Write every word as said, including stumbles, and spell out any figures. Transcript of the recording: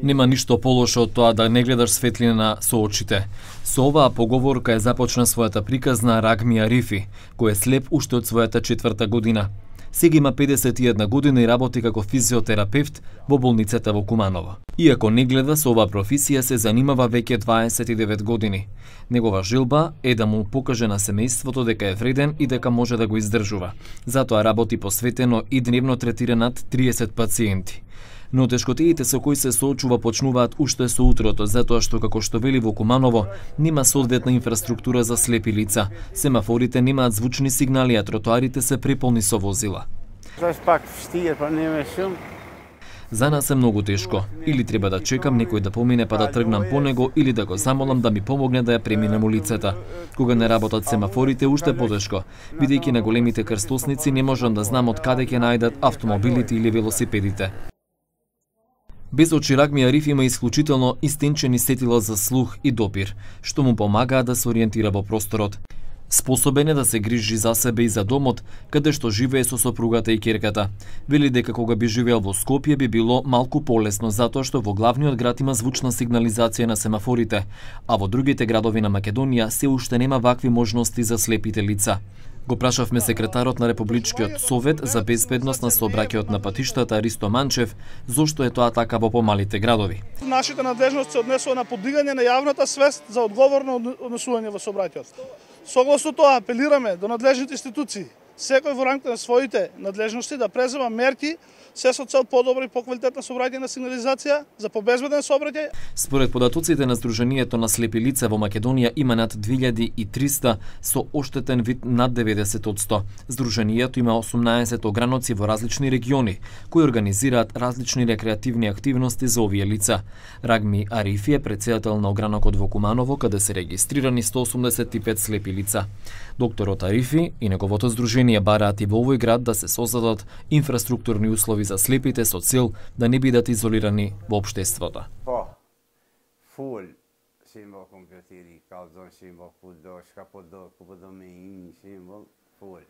Нема ништо полошо од тоа да не гледаш светлина со очите. Со оваа поговорка е започна својата приказна Рагми Арифи, кој е слеп уште од својата четврта година. Сега има педесет и една година и работи како физиотерапевт во болницата во Куманово. Иако не гледа со оваа професија, се занимава веќе дваесет и девет години. Негова желба е да му покаже на семејството дека е вреден и дека може да го издржува. Затоа работи посветено и дневно третира над триесет пациенти. Но тешкотиите со кои се соочува почнуваат уште со утрото, затоа што, како што вели во Куманово, нема соодветна инфраструктура за слепи лица. Семафорите немаат звучни сигнали, а тротоарите се преполни со возила. За нас е многу тешко. Или треба да чекам некој да помине па да тргнам по него, или да го замолам да ми помогне да ја преминем улицата. Кога не работат семафорите, уште потешко. Бидејќи на големите крстосници не можам да знам од каде ќе најдат автомобилите или велосипедите. Без очи Рагми Арифи има исклучително истенчени сетила за слух и допир, што му помагаат да се ориентира во просторот. Способен е да се грижи за себе и за домот, каде што живее со сопругата и ќерката. Вели дека кога би живеел во Скопје би било малку полесно, затоа што во главниот град има звучна сигнализација на семафорите, а во другите градови на Македонија се уште нема вакви можности за слепите лица. Го прашавме секретарот на Републичкиот совет за безбедност на сообраќајот на патиштата Ристо Манчев, зошто е тоа така во помалите градови. Нашите надлежности се однесува на подигање на јавната свест за одговорно однесување во сообраќајот. Согласно тоа апелираме до надлежните институции, секој во рамките на своите надлежности да презема мерки се со цел подобра и поквалитетна сообраќајна сигнализација за побезбеден сообраќај. Според податоците на Сдруженијето на слепи лица во Македонија има над две илјади и триста со оштетен вид над деветдесет одсто. Сдруженијето има осумнаесет ограноци во различни региони, кои организираат различни рекреативни активности за овие лица. Рагми Арифи е претседател на огранокот во Куманово, каде се регистрирани сто осумдесет и пет слепи лица. Докторот Арифи и неговото здружение бараат и во овој град да се создадат инфраструктурни услови за слепите со цел да не бидат изолирани во општеството. Full simbol kompletering, kalzon simbol, puddor, skapodor, kupodomein simbol, full.